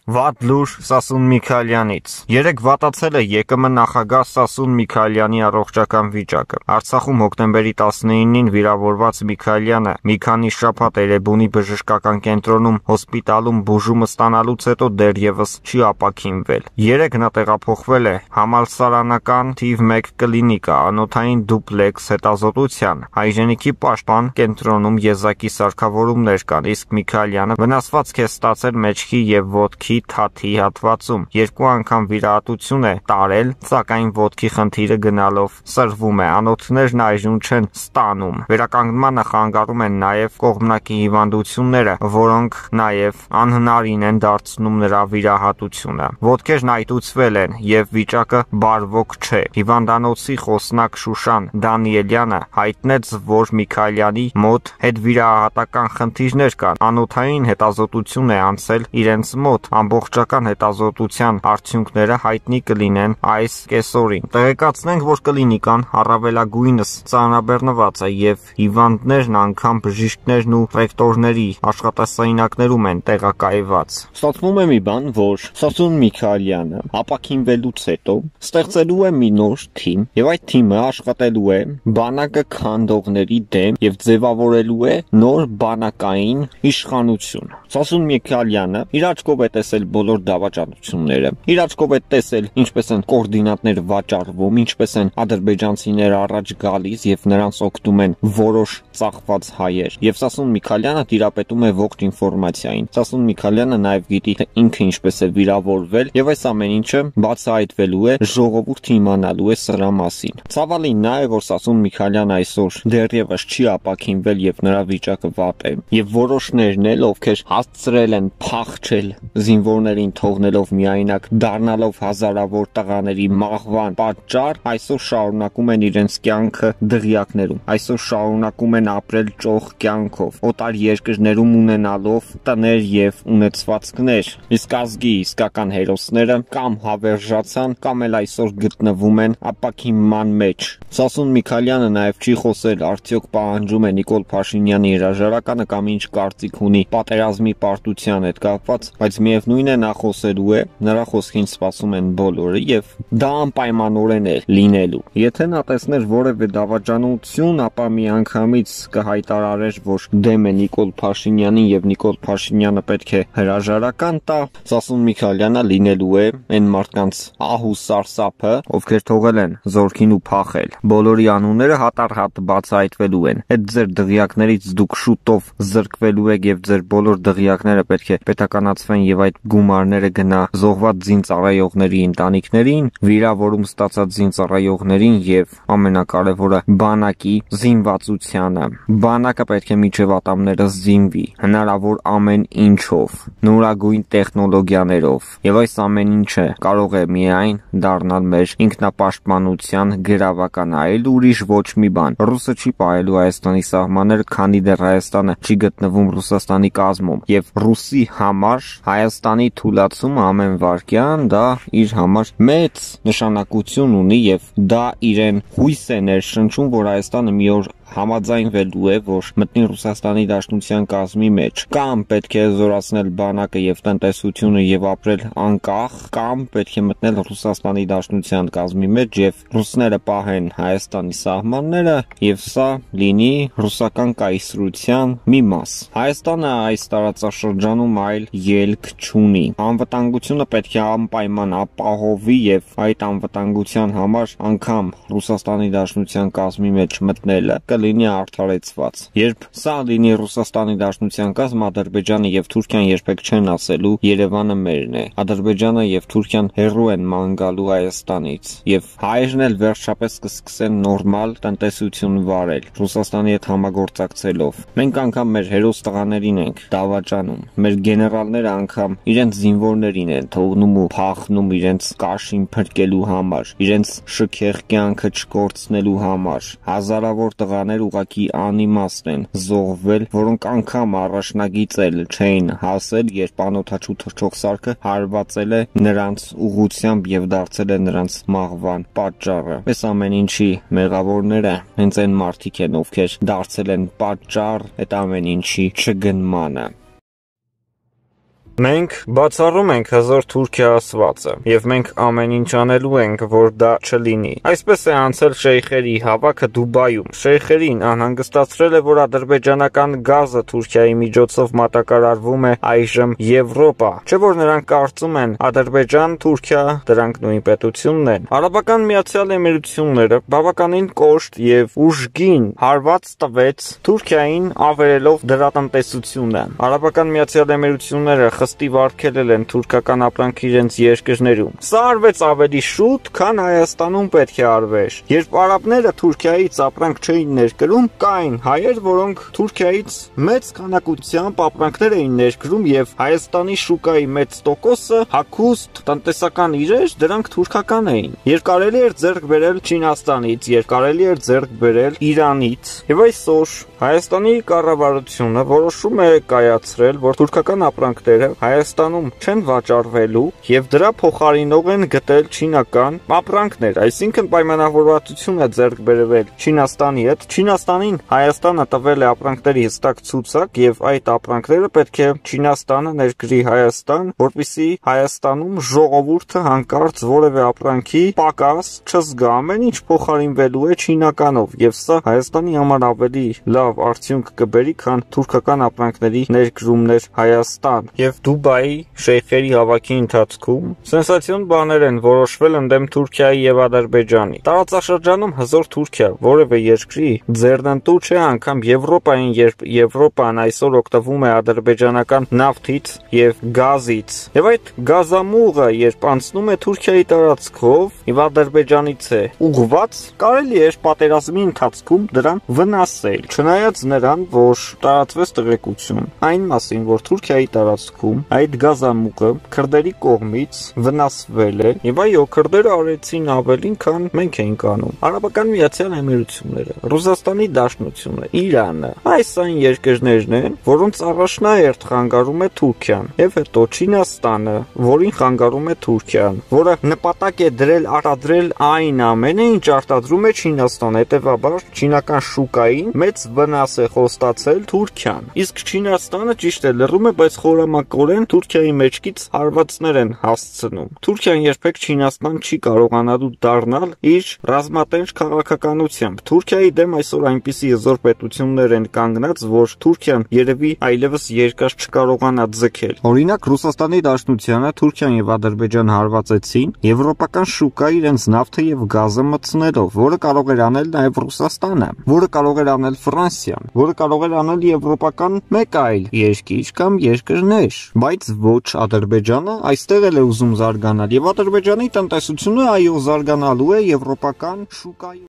Վատ լուր Սասուն Միքայելյանից։ Երեկ վատացել է ԵԿՄ նախագահ Սասուն Միքայելյանի առողջական վիճակը։ Արցախում հոկտեմբերի 19-ին վիրավորված Միքայելյանը մի քանի շաբաթ Էրեբունի բժշկական կենտրոնում հոսպիտալում բուժումը ստանալուց հետո դեռևս չի ապաքինվել։ Երեկ նա տեղափոխվել է համալսարանական թիվ 1 կլինիկա անոթային դուպլեքս հետազոտության։ Հայրենիքի պաշտպան կենտրոնում եզակի սարքավորումներ կան, իսկ Միքայելյանը վնասվածք է ստացել մեջքի և ոտքի թաթի հատվածում, 2 անգամ վիրահատություն է տարել, սակայն ոտքի խնդիրը գնալով սրվում է, անոթներն այժմ չեն ստանում։ Վերականգնմանը խանգարում են նաև կողմնակի հիվանդությունները, որոնք նաև անհնարին են դարձնում նրա վիրահատությունը։ Ոտքերն այտուցվել են և վիճակը բարվոք չէ։ Հիվանդանոցի խոսնակ Շուշան Դանիելյանը հայտնեց, որ Միքայելյանի մոտ հետվիրահատական խնդիրներ կան, անոթային հետազոտություն է անցել իրենց մոտ, ամբողջական հետազոտության արդյունքները հայտնի կլինեն այս կեսօրին։ Տեղեկացնենք, որ կլինիկան առավելագույնս ծանրաբեռնված է և հիվանդներն անգամ բժիշկներն ու ռեկտորների աշխատասենյակներում են տեղակայված։ Ստացվում է մի բան, որ Սասուն Միքայելյանը ապաքինվելուց հետո ստեղծելու է մի նոր թիմ և այդ թիմը աշխատելու է բանակը քանդողների դեմ և ձևավորելու է նոր բանակային իշխանություն։ Սասուն Միքայելյանը իր աչքով է տեսել բոլոր դավաճանությունները, իր աչքով է տեսել ինչպես են կոորդինատներ վաճառվում, ինչպես են ադրբեջանցիները առաջ գալիս և նրանց օգնում են որոշ ծախված հայեր, և Սասուն Միքայելյանը տիրապետում է ողջ ինֆորմացիային։ Սասուն Միքայելյանը նաև գիտի, թե ինքը ինչպես է վիրավորվել, և այս ամեն ինչը բացահայտվելու է, ժողովուրդը իմանալու է սրա մասին։ Ցավալին նա է, որ Սասուն Միքայելյանը այսօր դեռևս չի ապաքինվել և նրա վիճակը վատ է, և որոշներն էլ, ովքեր հասցրել են փախչել զինվորներին թողնելով միայնակ, դառնալով հազարավոր տղաների մահվան պատճառ, այսօր շարունակում են իրենց կյանքը դղյակներում, այսօր շարունակում են ապրել ճոխ կյանքով, օտար երկրներում ունենալով տներ և ունեցվածքներ, իսկ ազգի իսկական հերոսները կամ հավերժացան, կամ էլ այսօր գտնվում են ապաքինման մեջ։ Սասուն Միքայելյանը նաև չի խոսել, արդյոք պահանջում է Նիկոլ Փաշինյանի հրաժարականը կամ ինչ կարծիք ունի պատերազմի պարտության հետ կապված, բայց միևնույն է նա խոսելու է, նրա խոսքին սպասում են բոլորը և դա անպայմանորեն է լինելու։ Եթե նա տեսներ որևէ դավաճանություն, ապա միանգամից կհայտարարեր, որ դեմ է Նիկոլ Փաշինյանին և Նիկոլ Փաշինյանը պետք է հրաժարական տա, Սասուն Միքայելյանը լինելու է այն մարդկանց ահ ու սարսափը, ովքեր թողել են զորքին ու փախել։ Բոլորի անունները հատառհատ բացահայտվելու են։ Այդ ձեր դղյակներից դուք շուտով զրկվելու եք և ձեր բոլոր դղյակները պետք է պետականացվեն և այդ գումարները գնա զոհված զինծառայողների ընտանիքներին, վիրավորում ստացած զինծառայողներին և ամենակարևորը բանակի զինվածությանը։ Բանակը պետք է մինչև ատամները զինվի, հնարավոր ամեն ինչով, նորագույն տեխնոլոգիաներով, և այս ամեն ինչը կարող է միայն դառնալ մեր ինքնապաշտպանության գրավական, այլ ուրիշ ոչ մի բան։ Ռուսը չի պահելու Հայաստանի սահմանները, քանի դեռ Հայաստանը չի գտնվում Ռուսաստանի կազմում, և ռուսի համար Հայաստանի թուլացումը ամեն վայրկյան դա իր համար մեծ նշանակություն ունի և դա իրեն հույս է ներշնչում, որ Հայաստանը մի օր համաձայնվելու է, որ մտնի Ռուսաստանի Դաշնության կազմի մեջ, կամ պետք է զորացնել բանակը և տնտեսությունը և ապրել անկախ, կամ պետք է մտնել Ռուսաստանի Դաշնության կազմի մեջ և ռուսները պահեն Հայաստանի սահմանները և սա լինի ռուսական կայսրության մի մաս։ Հայաստանը այս տարածաշրջանում այլ ելք չունի։ Անվտանգությունը պետք է անպայման ապահովի և այդ անվտանգության համար անգամ Ռուսաստանի Դաշնության կազմի մեջ մտնելը կլինի արդարեցված։ Երբ սա լինի Ռուսաստանի Դաշնության կազմ, Ադրբեջանը և Թուրքիան երբեք չեն ասելու Երևանը մերն է։ Ադրբեջանը և Թուրքիան հեռու են ման գալու Հայաստանից և հայերն էլ վերջապես կսկսեն նորմալ տնտեսություն վարել Ռուսաստանի հետ համագործակցելով։ Մենք անգամ մեր հերոս տղաներին ենք դավաճանում, մեր գեներալները անգամ իրենց զինվորներին են թողնում ու փախնում իրենց կաշին փրկելու համար, իրենց շքեղ կյանքը չկորցնելու համար։ Հազարավոր տղաներ ուղղակի անիմաստ են զոհվել, որոնք անգամ առաջնագիծ էլ չէին հասել, երբ անօդաչու թռչող սարքը հարվածել է նրանց ուղղությամբ և դարձել է նրանց մահվան պատճառը։ Այս ամեն ինչի մեղավորները հենց այն մարդիկ են, ովքեր դարձել են պատճառ այդ ամեն ինչի չգնմանը։ Մենք բացառում ենք հզոր Թուրքիա ասվածը, եւ մենք ամեն ինչ անելու ենք, որ դա չլինի։ Այսպես է անցել շեյխերի հավաքը Դուբայում։ Շեյխերին անհանգստացրել է, որ ադրբեջանական գազը Թուրքիայի միջոցով մատակարարվում է այժմ Եվրոպա։ Չէ՞ որ նրանք կարծում են Ադրբեջան, Թուրքիա, դրանք նույն պետությունն են։ Արաբական Միացյալ Էմիրությունները բավականին կոշտ եւ ուժգին հարված տվեց Թուրքիային, ավերելով դրա տնտեսությունը։ Արաբական Միացյալ Էմիրությունները խստիվ արգելել են թուրքական ապրանք իրենց երկրներում։ Սա արվեց ավելի շուտ, քան Հայաստանում պետք է արվեր։ Երբ արաբները Թուրքիայից ապրանք չէին ներկրում, կային հայեր, որոնք Թուրքիայից մեծ քանակությամբ ապրանքներ էին ներկրում եւ Հայաստանի շուկայի մեծ տոկոսը հագուստ տնտեսական իրեր, դրանք թուրքական էին։ Երբ կարելի էր ձեռք բերել Չինաստանից, երբ կարելի էր ձեռք բերել Իրանից, եւ այսօր Հայաստանի կառավարությունը որոշում է կայացրել, որ թուրքական ապրանքները Հայաստանում չեն վաճառվելու եւ դրա փոխարինող են գտել չինական ապրանքներ, այսինքն պայմանավորվածություն է ձեռք բերվել Չինաստանի հետ։ Չինաստանին Հայաստանը տվել է ապրանքների հստակ ցուցակ եւ այդ ապրանքները պետք է Չինաստանը ներկրի Հայաստան, որպեսզի Հայաստանում ժողովուրդը հանկարծ որևէ ապրանքի պակաս չզգա, ամեն ինչ փոխարինվելու է չինականով եւ սա Հայաստանի համար ավելի լավ արդյունք կբերի, քան թուրքական ապրանքների ներկրումներ Հայաստան։ Եվ Դուբայի շեյխերի հավաքի ընթացքում սենսացիոն բաներ են որոշվել ընդդեմ Թուրքիայի եւ Ադրբեջանի։ Տարածաշրջանում հզոր Թուրքիա որևէ երկրի ձեռնտու չէ, անգամ Եվրոպային, երբ Եվրոպան այսօր օգտվում է ադրբեջանական նավթից եւ գազից։ Եվ այդ գազամուղը, երբ անցնում է Թուրքիայի տարածքով եւ Ադրբեջանից է ուղղված, կարելի է պատերազմի ընթացքում դրան վնասել, չնայած նրան, որ տարածվեց տեղեկություն այն մասին, որ Թուրքիայի տարածքում այդ գազամուղը քրդերի կողմից վնասվել է եւ այո, քրդերը արեցին ավելին, քան մենք էինք անում։ Արաբական Միացյալ Էմիրությունները, Ռուսաստանի Դաշնությունը, Իրանը, այս այն երկրներն են, որոնց առաջնահերթ խանգարում է Թուրքիան, եւ հետո Չինաստանը, որին խանգարում է Թուրքիան, որը նպատակ է դրել արտադրել այն ամենը, ինչ արտադրում է Չինաստանը, հետեւաբար չինական շուկային մեծ վնաս է խոստացել Թուրքիան։ Իսկ Չինաստանը ճիշտ է լռում է, բայց խորամանկորեն Թուրքիայի մեջքից հարվածներ են հասցնում։ Թուրքիան երբեք Չինաստան չի կարողանալու դառնալ իր ռազմատենչ քաղաքականությամբ։ Թուրքիայի դեմ այսօր այնպիսի հզոր պետություններ են կանգնած, որ Թուրքիան երևի այլևս երկար չկարողանա ձգել։ Օրինակ Ռուսաստանի Դաշնությանը Թուրքիան եւ Ադրբեջան հարվածեցին եվրոպական շուկա իրենց նավթը եւ գազը մտցնելով, որը կարող էր անել նաեւ Ռուսաստանը, որը կարող էր անել Ֆրանսիան, որը կարող էր անել եվրոպական մեկ այլ երկիր կամ երկրներ, բայց ոչ Ադրբեջանը այստեղ էլ է ուզում զարգանալ եւ Ադրբեջանի տնտեսությունը այո զարգանալու է եվրոպական շուկայում։